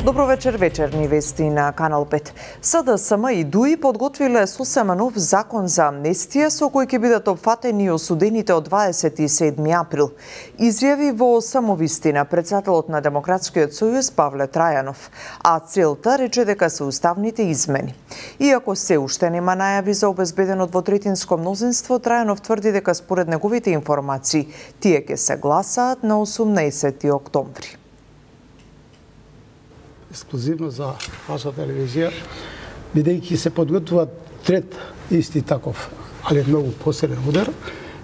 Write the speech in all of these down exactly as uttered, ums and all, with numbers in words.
Добро вечер, вечерни вести на Канал пет. СДСМ и ДУИ подготвиле сосема нов закон за амнестија со кој ќе бидат опфатени осудените од дваесет и седми април. Изјави во самовистина председателот на Демократскиот сојуз Павле Трајанов, а целта рече дека се уставните измени. Иако се уште нема најави за обезбедено двотретинско мнозинство, Трајанов тврди дека според неговите информации тие ќе се гласаат на осумнаесети октомври. Ексклузивно за ваша телевизија, бидејќи се подготвува трет исти таков, али многу посилен удар,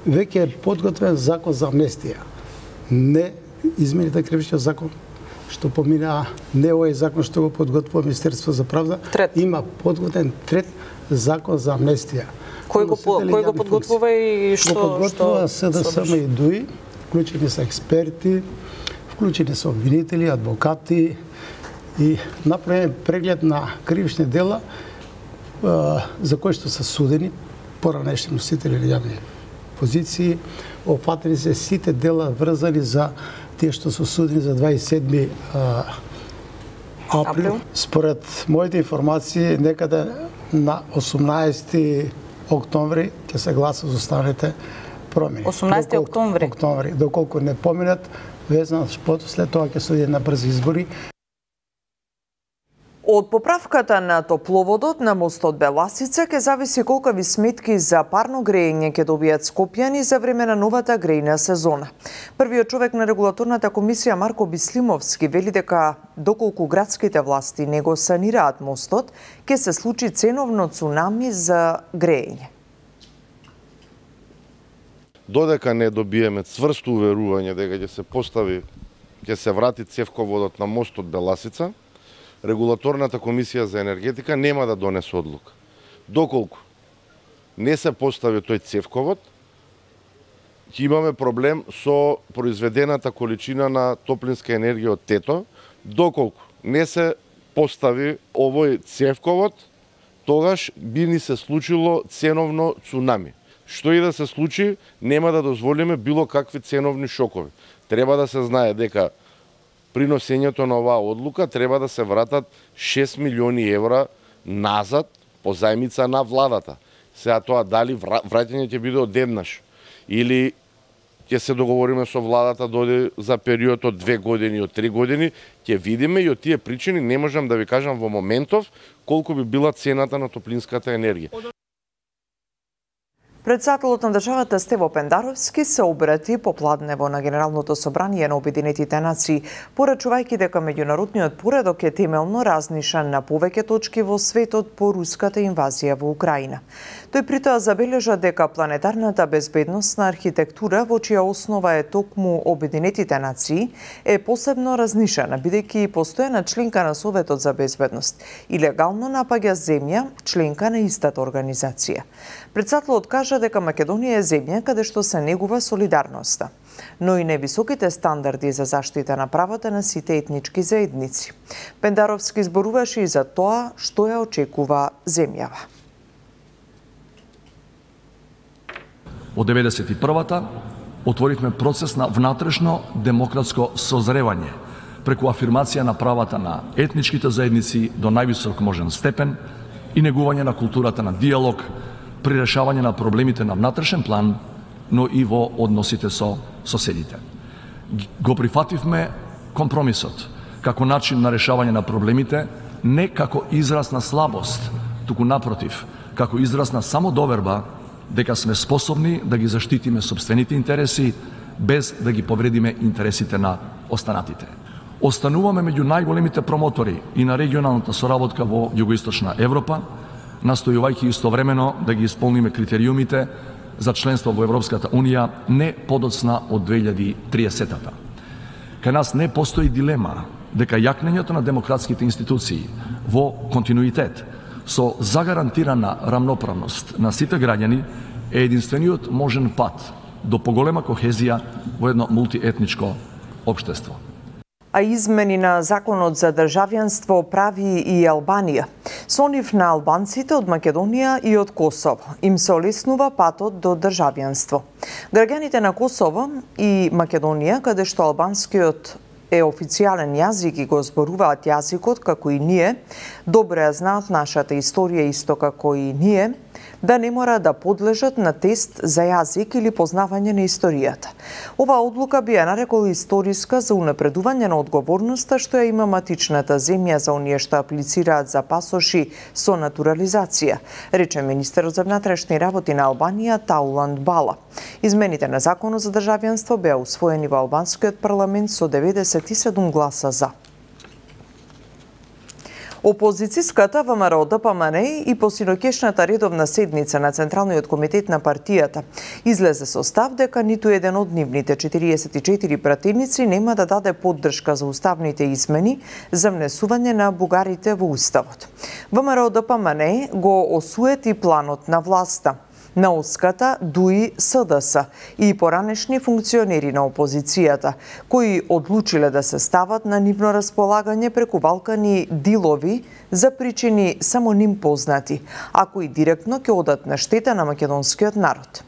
веќе е подготвен закон за амнестија. Не измените кривичниот закон, што помина, не овој закон што го подготвува Министерство за правда, трет. Има подготвен трет закон за амнестија. Кој го, кој го подготвува и што? Го подготвува СДСМ и ДУИ, вклучени се експерти, вклучени се обвинители, адвокати, и направен преглед на кривични дела за кои што се судени поранешни носители на јавни позиции. Опфатени се сите дела врзани за тие што се судени за дваесет и седми април. Според моите информации, некаде на осумнаесети октомври ќе се гласа за останалите промени. осумнаесети октомври? Октомври. Доколку не поминат, везно след тоа ќе се оди на брзи избори. Од поправката на топловодот на мостот Беласица ќе зависи колкави сметки за парно грејење ќе добијат скопјани за време на новата грејна сезона. Првиот човек на регулаторната комисија Марко Бислимовски вели дека доколку градските власти не го санираат мостот, ќе се случи ценовно цунами за грејење. Додека не добиеме цврсто уверување дека ќе се постави, ќе се врати цевководот на мостот Беласица, Регулаторната комисија за енергетика нема да донесе одлука. Доколку не се постави тој цевковод, ќе имаме проблем со произведената количина на топлинска енергија од Тето. Доколку не се постави овој цевковод, тогаш би ни се случило ценовно цунами. Што и да се случи, нема да дозволиме било какви ценовни шокови. Треба да се знае дека при носењето на оваа одлука треба да се вратат шест милиони евра назад по зајмица на владата. Сега тоа дали враќање ќе биде одеднаш или ќе се договориме со владата дојде за период од две години, од три години, ќе видиме и од тие причини не можам да ви кажам во моментов колку би била цената на топлинската енергија. Председателот на државата Стево Пендаровски се обрати попладнево на Генералното собрание на Обединетите нации, порачувајќи дека меѓународниот поредок е темелно разнишан на повеќе точки во светот по руската инвазија во Украина. Тој притоа забележа дека планетарната безбедносна архитектура, во чија основа е токму Обединетите нации, е посебно разнишана, бидејќи постојана членка на Советот за безбедност и легално напаѓа земја, членка на истата организација. Председателот кажа дека Македонија е земја каде што се негува солидарноста, но и невисоките стандарди за заштита на правата на сите етнички заедници. Пендаровски зборуваше и за тоа што ја очекува земјава. Од деветдесет и првата отворивме процес на внатрешно демократско созревање преку афирмација на правата на етничките заедници до највисок можен степен и негување на културата на диалог при решавање на проблемите на внатрешен план, но и во односите со соседите. Го прифативме компромисот како начин на решавање на проблемите, не како израз на слабост, туку напротив, како израз на самодоверба дека сме способни да ги заштитиме сопствените интереси без да ги повредиме интересите на останатите. Остануваме меѓу најголемите промотори и на регионалната соработка во Југоисточна Европа, настојувајќи истовремено да ги исполниме критериумите за членство во Европската Унија не подоцна од две илјади и триесета. Кај нас не постои дилема дека јакнењето на демократските институции во континуитет со загарантирана рамноправност на сите граѓани е единствениот можен пат до поголема кохезија во едно мултиетничко општество. А измени на законот за државјанство прави и Албанија. Со нив на албанците од Македонија и од Косово им се олеснува патот до државјанство. Граѓаните на Косово и Македонија, каде што албанскиот е официјален јазик и го зборуваат јазикот како и ние, добро ја знаат нашата историја исто како и ние, да не мора да подлежат на тест за јазик или познавање на историјата. Оваа одлука би ја нарекол историска за унапредување на одговорноста што ја има матичната земја за оние што аплицираат за пасоши со натурализација, рече министерот за внатрешни работи на Албанија Тауланд Бала. Измените на законот за државјанство беа усвоени во албанскиот парламент со деветдесет и седум гласа за. Опозицијската ВМРО Д П М Н и по синоќешната редовна седница на Централниот комитет на партијата излезе со став дека ниту еден од нивните четириесет и четири пратеници нема да даде поддршка за уставните измени за внесување на бугарите во уставот. ВМРО Д П М Н го осуети планот на власта на Оската, Дуи, С Д С и поранешни функционери на опозицијата, кои одлучиле да се стават на нивно располагање преку Балкани дилови за причини само ним познати, а кои директно ќе одат на штета на македонскиот народ.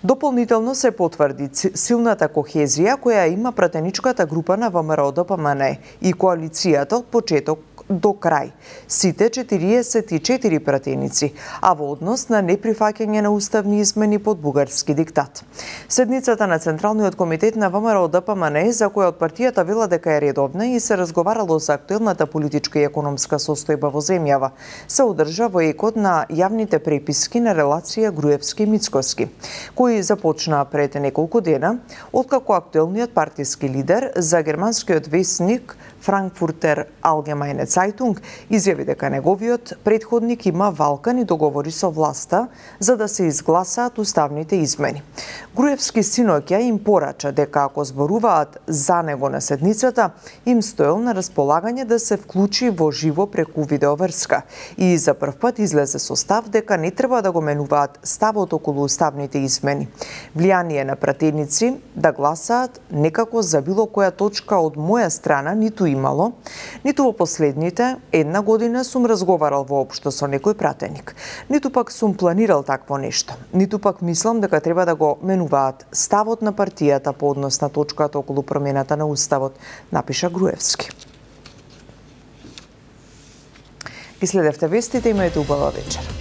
Дополнително се потврди силната кохезија која има пратеничката група на ВМРО Д П М Н и коалицијата од почеток до крај, сите четириесет и четири пратеници, а во однос на неприфаќање на уставни измени под бугарски диктат. Седницата на Централниот комитет на ВМРО Д П М Н, за која од партијата вела дека е редовна и се разговарало за актуелната политичка и економска состојба во земјава, се одржа во екот на јавните преписки на релација Груевски-Мицкоски, кои започнаа пред неколку дена, откако актуелниот партиски лидер за германскиот весник Frankfurter Allgemeine Zeitung изјави дека неговиот претходник има валкани договори со власта за да се изгласаат уставните измени. Груевски синоќа им порача дека ако зборуваат за него на седницата, им стоел на располагање да се вклучи во живо преку видеоврска и за прв пат излезе со став дека не треба да го менуваат ставот околу уставните измени. Влијание на пратеници да гласаат некако за било која точка од моја страна ниту имало, ниту во последните една година сум разговарал воопшто со некој пратеник, ниту пак сум планирал такво нешто, ниту пак мислам дека треба да го менуваат ставот на партијата по однос на точката околу промената на уставот, напиша Груевски. Ги следевте вестите, имајте убава вечер.